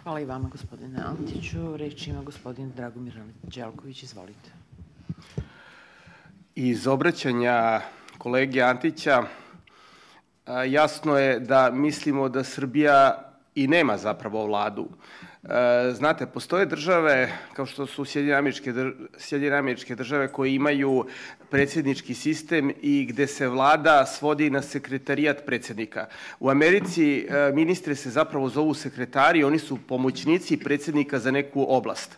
Hvala i vama, gospodine Antiću. Reč ima gospodin Dragomir Đelković. Izvolite. Iz obraćanja kolege Antića jasno je da mislimo da Srbija i nema zapravo vladu. Znate, postoje države kao što su Sjedinjene Američke Države koje imaju predsjednički sistem i gde se vlada svodi na sekretarijat predsjednika. U Americi ministri se zapravo zovu sekretari, oni su pomoćnici predsjednika za neku oblast.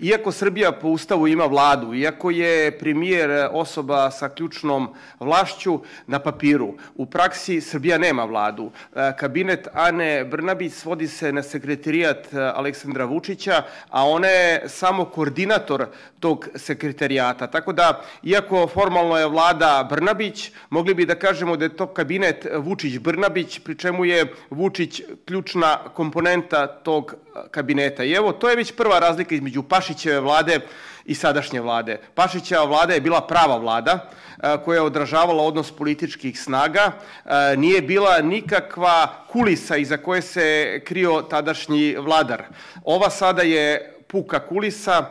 Iako Srbija po Ustavu ima vladu, iako je premijer osoba sa ključnom vlašću na papiru, u praksi Srbija nema vladu. Kabinet Ane Brnabić svodi se na sekretarijat Aleksandra Vučića, a ona je samo koordinator tog sekretarijata. Tako da, iako formalno je vlada Brnabić, mogli bi da kažemo da je to kabinet Vučić-Brnabić, pri čemu je Vučić ključna komponenta tog kabineta. I evo, to je već prva razlika između Pašićeve vlade i sadašnje vlade. Pašićeva vlada je bila prava vlada koja je odražavala odnos političkih snaga. Nije bila nikakva kulisa iza koje se krio tadašnji vladar. Ova sada je puka kulisa,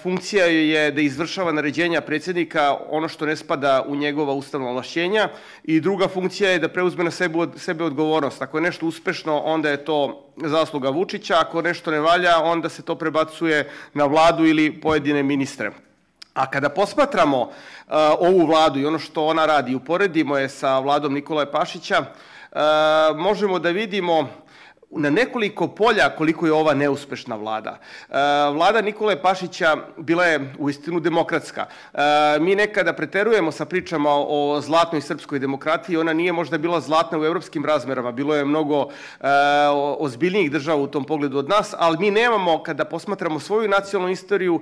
funkcija je da izvršava naređenja predsjednika, ono što ne spada u njegova ustavna ovlašćenja, i druga funkcija je da preuzme na sebe odgovornost. Ako je nešto uspešno, onda je to zasluga Vučića, ako nešto ne valja, onda se to prebacuje na vladu ili pojedine ministre. A kada posmatramo ovu vladu i ono što ona radi, uporedimo je sa vladom Nikolaja Pašića, možemo da vidimo na nekoliko polja koliko je ova neuspešna vlada. Vlada Nikole Pašića bila je uistinu demokratska. Mi nekada preterujemo sa pričama o zlatnoj srpskoj demokratiji, ona nije možda bila zlatna u evropskim razmerama, bilo je mnogo ozbiljnijih država u tom pogledu od nas, ali mi nemamo, kada posmatramo svoju nacionalnu istoriju,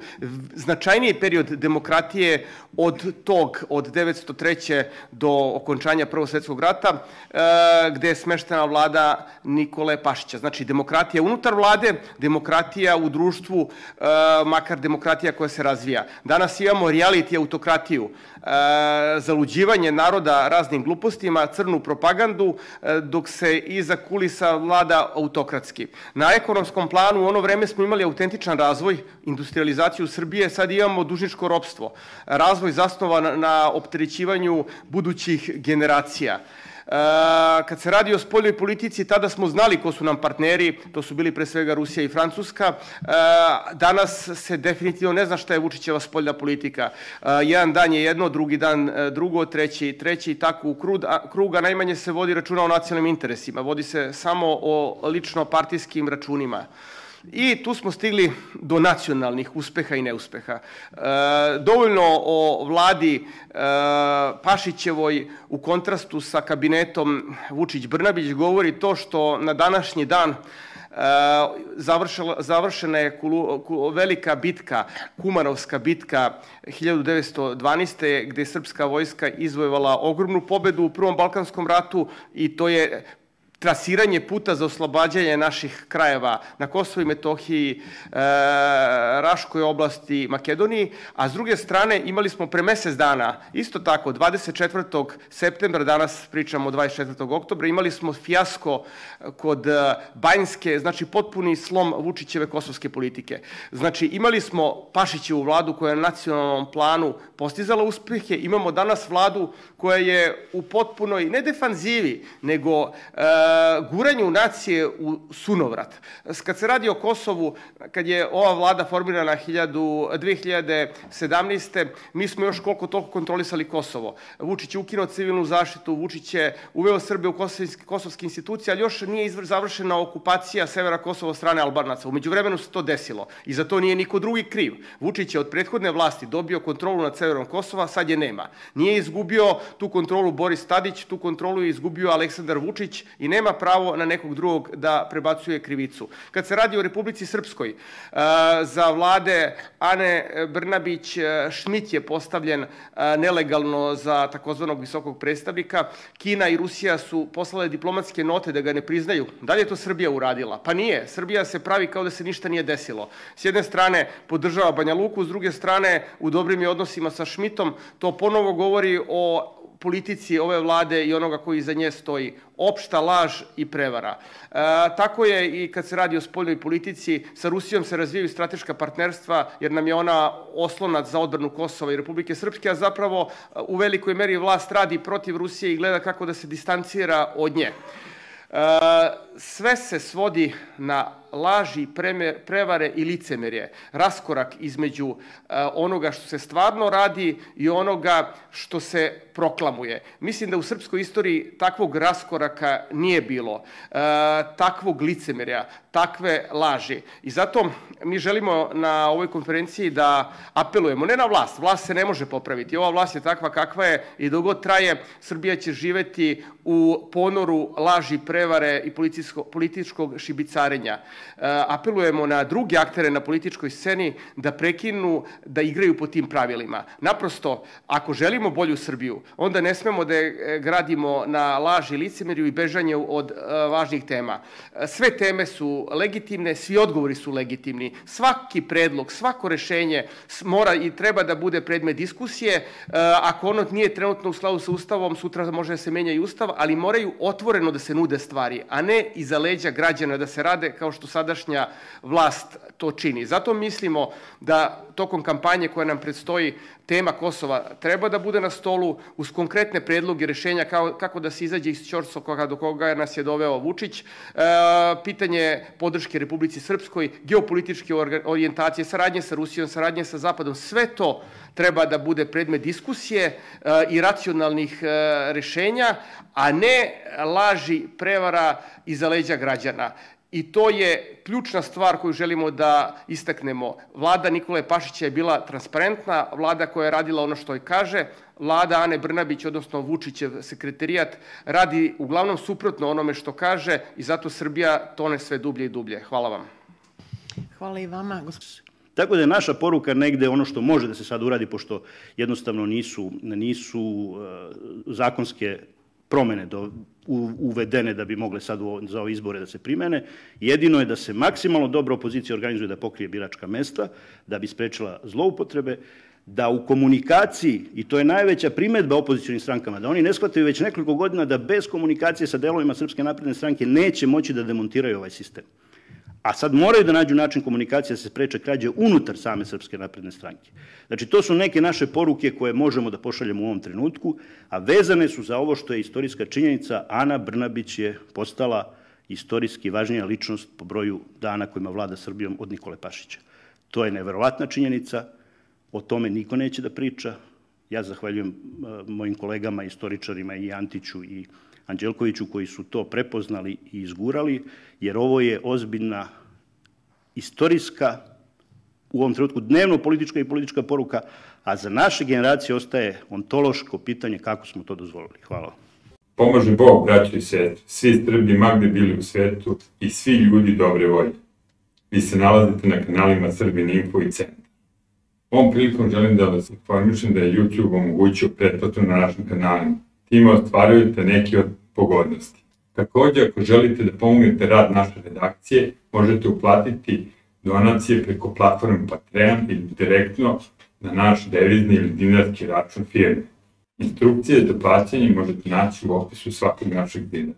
značajniji period demokratije od 903. do okončanja Prvog svjetskog rata, gde je smeštena vlada Nikole Pašića. Znači, demokratija unutar vlade, demokratija u društvu, makar demokratija koja se razvija. Danas imamo reality autokratiju, zaluđivanje naroda raznim glupostima, crnu propagandu, dok se iza kulisa vlada autokratski. Na ekonomskom planu u ono vreme smo imali autentičan razvoj, industrializaciju Srbije, sad imamo dužničko ropstvo, razvoj zasnovan na opterećivanju budućih generacija. Kad se radi o spoljnoj politici, tada smo znali ko su nam partneri, to su bili pre svega Rusija i Francuska. Danas se definitivno ne zna šta je Vučićeva spoljna politika. Jedan dan je jedno, drugi dan drugo, treći i tako u krug, a najmanje se vodi računa o nacionalnim interesima, vodi se samo o lično partijskim računima. I tu smo stigli do nacionalnih uspeha i neuspeha. Dovoljno o vladi Pašićevoj u kontrastu sa kabinetom Vučić-Brnabić govori to što na današnji dan završena je velika bitka, Kumanovska bitka 1912. gde je srpska vojska izvojevala ogromnu pobedu u Prvom Balkanskom ratu i to je trasiranje puta za oslobađanje naših krajeva na Kosovu i Metohiji, Raškoj oblasti, Makedoniji, a s druge strane imali smo pre mesec dana, isto tako, 24. septembra, danas pričamo o 24. oktobra, imali smo fijasko kod Banjske, znači potpuni slom Vučićeve kosovske politike. Znači imali smo Pašićevu vladu koja je na nacionalnom planu postizala uspehe, imamo danas vladu koja je u potpunoj, ne defanzivi, nego guranju nacije u sunovrat. Kad se radi o Kosovu, kad je ova vlada formirana 2017. mi smo još koliko toliko kontrolisali Kosovo. Vučić je ukinuo civilnu zaštitu, Vučić je uveo Srbe u kosovske institucije, ali još nije završena okupacija severa Kosova od strane Albanaca. Umeđu vremenu se to desilo i za to nije niko drugi kriv. Vučić je od prethodne vlasti dobio kontrolu nad severom Kosova, sad je nema. Nije izgubio tu kontrolu Boris Tadić, tu kontrolu je izgubio Aleksandar Vučić i nema pravo na nekog drugog da prebacuje krivicu. Kad se radi o Republici Srpskoj, za vlade Ane Brnabić, Šmit je postavljen nelegalno za takozvanog visokog predstavnika. Kina i Rusija su poslale diplomatske note da ga ne priznaju. Da li je to Srbija uradila? Pa nije. Srbija se pravi kao da se ništa nije desilo. S jedne strane podržava Banja Luku, s druge strane u dobrim je odnosima sa Šmitom. To ponovo govori o politici ove vlade i onoga koji iza nje stoji. Opšta laž i prevara. Tako je i kad se radi o spoljnoj politici. Sa Rusijom se razvijaju strateška partnerstva jer nam je ona oslonac za odbranu Kosova i Republike Srpske, a zapravo u velikoj meri vlast radi protiv Rusije i gleda kako da se distancira od nje. Sve se svodi na laži, prevare i licemerje. Raskorak između onoga što se stvarno radi i onoga što se proklamuje. Mislim da u srpskoj istoriji takvog raskoraka nije bilo, takvog licemerja, takve laži. I zato mi želimo na ovoj konferenciji da apelujemo, ne na vlast, vlast se ne može popraviti, ova vlast je takva kakva je i dok god traje, Srbija će živeti u ponoru laži, prevare i političkog šibicarenja. Apelujemo na druge aktere na političkoj sceni da prekinu da igraju po tim pravilima. Naprosto, ako želimo bolju Srbiju, onda ne smemo da je gradimo na laži, licemerju i bežanju od važnih tema. Sve teme su legitimne, svi odgovori su legitimni. Svaki predlog, svako rešenje mora i treba da bude predmet diskusije. Ako ono nije trenutno u skladu sa Ustavom, sutra može da se menja i Ustav, ali moraju otvoreno da se nude stvari, a ne iza leđa građana da se rade kao što sadašnja vlast to čini. Zato mislimo da tokom kampanje koja nam predstoji tema Kosova treba da bude na stolu uz konkretne predloge rešenja kako da se izađe iz ćorsokoga do koga nas je doveo Vučić, pitanje podrške Republici Srpskoj, geopolitičke orijentacije, saradnje sa Rusijom, saradnje sa Zapadom, sve to treba da bude predmet diskusije i racionalnih rešenja, a ne laži, prevara iza leđa građana. I to je ključna stvar koju želimo da istaknemo. Vlada Nikole Pašića je bila transparentna, vlada koja je radila ono što joj kaže, vlada Ane Brnabić, odnosno Vučićev sekretarijat, radi uglavnom suprotno onome što kaže i zato Srbija tone sve dublje i dublje. Hvala vam. Hvala i vama. Tako da je naša poruka negde ono što može da se sad uradi, pošto jednostavno nisu zakonske promene uvedene da bi mogle sad za ove izbore da se primene. Jedino je da se maksimalno dobro opozicija organizuje da pokrije biračka mesta, da bi sprečila zloupotrebe, da u komunikaciji, i to je najveća primedba opozicionim strankama, da oni ne shvataju već nekoliko godina da bez komunikacije sa delovima Srpske napredne stranke neće moći da demontiraju ovaj sistem. A sad moraju da nađu način komunikacije da se spreče krađe unutar same Srpske napredne stranke. Znači, to su neke naše poruke koje možemo da pošaljemo u ovom trenutku, a vezane su za ovo što je istorijska činjenica. Ana Brnabić je postala istorijski važnija ličnost po broju dana kojima vlada Srbijom od Nikole Pašića. To je neverovatna činjenica, o tome niko neće da priča. Ja zahvaljujem mojim kolegama, istoričarima i Antiću i Anđelkoviću koji su to prepoznali i izgurali, jer ovo je ozbiljna istorijska, u ovom trenutku dnevno politička i politička poruka, a za naše generacije ostaje ontološko pitanje kako smo to dozvolili. Hvala. Pomože Bog, braćo i sestre, svi Srbi ma gde bili u svetu i svi ljudi dobre volje. Vi se nalazite na kanalima Srbin Info i Centar. Ovom prilikom želim da vas informišem da je YouTube omogućio pretplatu na našim kanalima. Time ostvarujete neke od pogodnosti. Također, ako želite da pomognete rad naše redakcije, možete uplatiti donacije preko platforme Patreon ili direktno na naš devizni ili dinarski račun firme. Instrukcije za plaćanje možete naći u opisu svakog našeg videa.